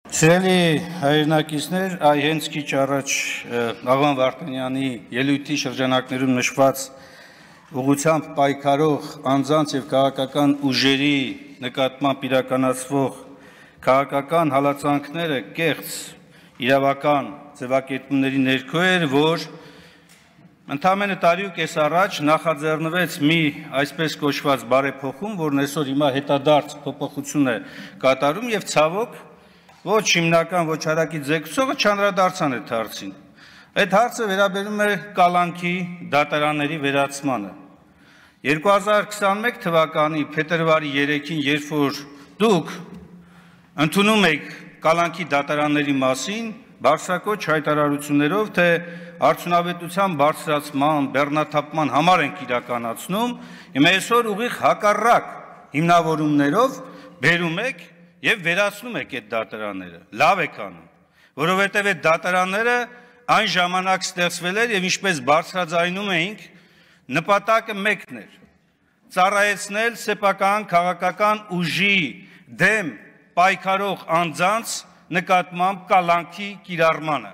Սիրելի հայրենակիցներ, այ հենց քիչ առաջ Աղվան Վարդանյանի ելույթի շրջանակներում նշված ուղղությամբ պայքարող անձանց եւ քաղաքական ուժերի նկատմամբ իրականացվող քաղաքական հալածանքները կեղծ իրավական ձևակերպումների ներքո էր, որ ընդամենը տարի ու կես առաջ նախաձեռնվեց մի այսպես կոչված բարեփոխում, որն այսօր հիմա հետադարձ փոփոխություն է կատարում եւ ցավոք ոչ հիմնական ոչ հարակի ձգեցողը չանդրադարձան այդ հարցին։ Այդ հարցը վերաբերում է կալանքի դատարանների վերացմանը։ 2021 թվականի փետրվարի 3-ին, երբ որ դուք ընդունում եք կալանքի դատարանների մասին, բարձրակոչ հայտարարություններով, թե արդյունավետության բարձրացման, բեռնաթափման համար ենք իրականացնում, հիմա այսօր ուղիղ հակառակ հիմնավորումներով բերում եք եւ վերացնում եք այդ դատարանները։ Լավ եք անում, որովհետեւ այդ դատարանները այն ժամանակ ստեղծվել էր եւ ինչպես բարձրաձայնում էինք, նպատակը մեկն էր՝ ծառայեցնել սեփական քաղաքական ուժի դեմ պայքարող անձանց նկատմամբ կալանքի կիրառմանը։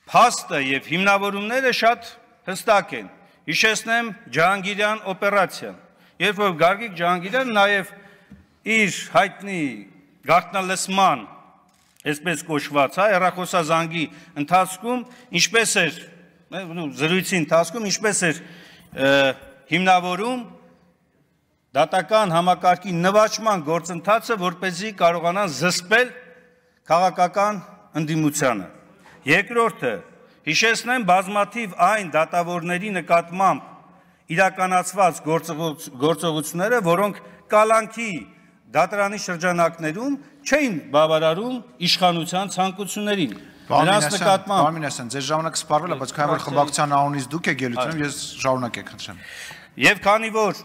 Փաստը եւ հիմնավորումները շատ հստակ են։ Հիշեցնեմ Ջահանգիրյան օպերացիան, երբ որ Գարգիկ Ջահանգիրյանը նաեւ իր հայտնի գաղտնալսման, այսպես կոչված, հեռախոսազանգի ընթացքում, ինչպես էր զրույցի ընթացքում, ինչպես էր հիմնավորում դատական համակարգի նվաճման գործընթացը, որպեսզի կարողանան զսպել քաղաքական ընդդիմությանը։ Երկրորդը, հիշեցնեմ բազմաթիվ այն դատավորների նկատմամբ իրականացված գործողությունները, որոնք կալանքի դատարանի շրջանակներում չէին բավարարում իշխանության ցանկություններին։ Նրանց նկատմամբ Պարմինասյան, ձեր ժամանակը սպառվել է, բայց քանի որ խմբակցության անունից դուք եք ելույթ ունեմ, ես շարունակեք, խնդրեմ։ Եվ քանի որ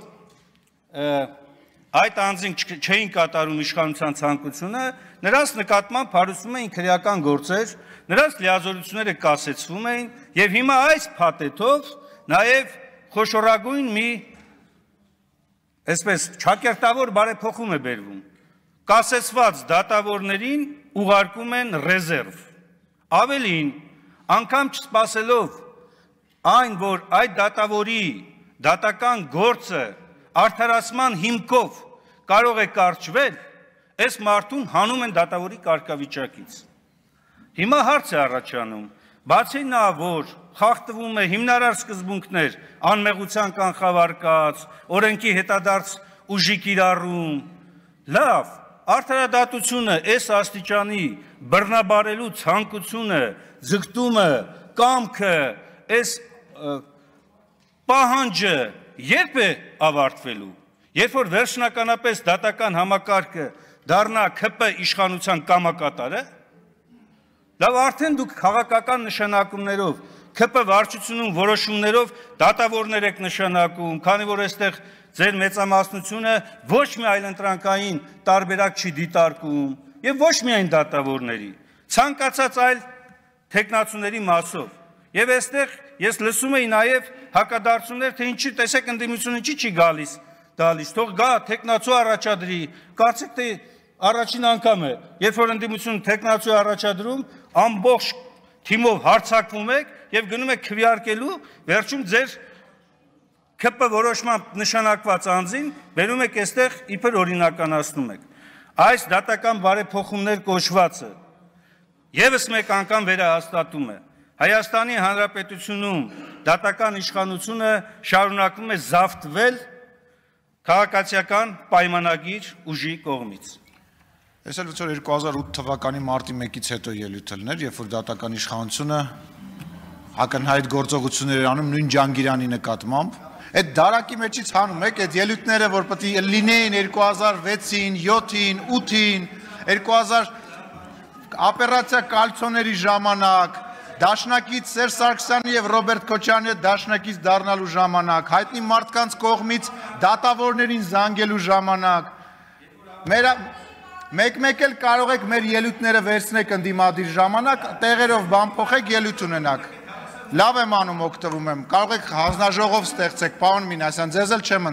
այդ անձին չէին կատարում իշխանության ցանկությունը, նրանց նկատմամբ հարուցվում էին քրեական գործեր, նրանց լիազորությունները կասեցվում էին, եւ հիմա այս փաթեթով նաեւ խոշորագույն մի այսպես ճակերտավոր բարեփոխում է բերվում։ Կասեցված դատավորներին ուղարկում են ռեզերվ։ Ավելին, անգամ չսպասելով այն, որ այդ դատավորի դատական գործը արդարացման հիմքով կարող է կարճվել, այս մարդուն հանում են դատավորի կարգավիճակից։ Հիմա հարց է առաջանում, բացի նա, որ խախտվում է հիմնարար սկզբունքներ, անմեղության կանխավարկած, օրենքի հետադարձ ուժի կիրառում, լավ, արդարադատությունը այս աստիճանի բռնաբարելու ցանկությունը, ձգտումը, կամքը, այս պահանջը երբ է ավարտվելու, երբ որ վերջնականապես դատական համակարգը դառնա ՔՊ իշխանության կամակատարը, լավ արդեն դուք քաղաքական նշանակումներով, ՔՊ վարչությունում որոշումներով դատավորներ եք նշանակում, քանի որ այստեղ ձեր մեծամասնությունը ոչ մի այլընտրանքային տարբերակ չի դիտարկում եւ ոչ միայն դատավորների, ցանկացած այլ թեկնածուների մասով։ Եվ այստեղ ես լսում եի նաև հակադարձություններ, թե ինչի տեսեք ընդդիմությունը չի գալիս, թող գա թեկնածու առաջադրի, կարծեք թե առաջին անգամ է, երբ որ ընդդիմությունը թեկնածու առաջադրում, ամբողջ թիմով հարձակվում եք եւ գնում եք քվեարկելու, վերջում ձեր ՔՊ որոշմամբ նշանակված անձին բերում եք այստեղ իբր օրինականացնում եք։ Այս դատական բարեփոխումներ կոչվածը եւս մեկ անգամ վերահաստատում է Հայաստանի Հանրապետությունում դատական իշխանությունը շարունակվում է զավթվել քաղաքացիական պայմանագիր ուժի կողմից։ Ես էլ որ 2008 թվականի մարտի 1-ից հետո ելույթ ելներ, երբ որ դատական իշխանությունը ակնհայտ գործողություններ անում նույն Ջանգիրյանի նկատմամբ, այդ դարակի մեջից հանում եք այդ ելույթները, որ պետք է լինեին 2006-ին, 7-ին, 8-ին, 2000 օպերացիա կալցոների ժամանակ, Դաշնակից Սերժ Սարգսյանի եւ Ռոբերտ Քոչարյանի հետ դաշնակից դառնալու ժամանակ, հայտնի մարդկանց կողմից դատավորներին զանգելու ժամանակ, մեկ-մեկ էլ կարող եք մեր ելույթները վերցնեք ընդդիմադիր ժամանակ, տեղերով բան փոխեք, ելույթ ունենաք։ Լավ եմ անում, օգտվում եմ, կարող եք հանձնաժողով ստեղծեք, պարոն Մինասյան, ձեզ էլ չեմ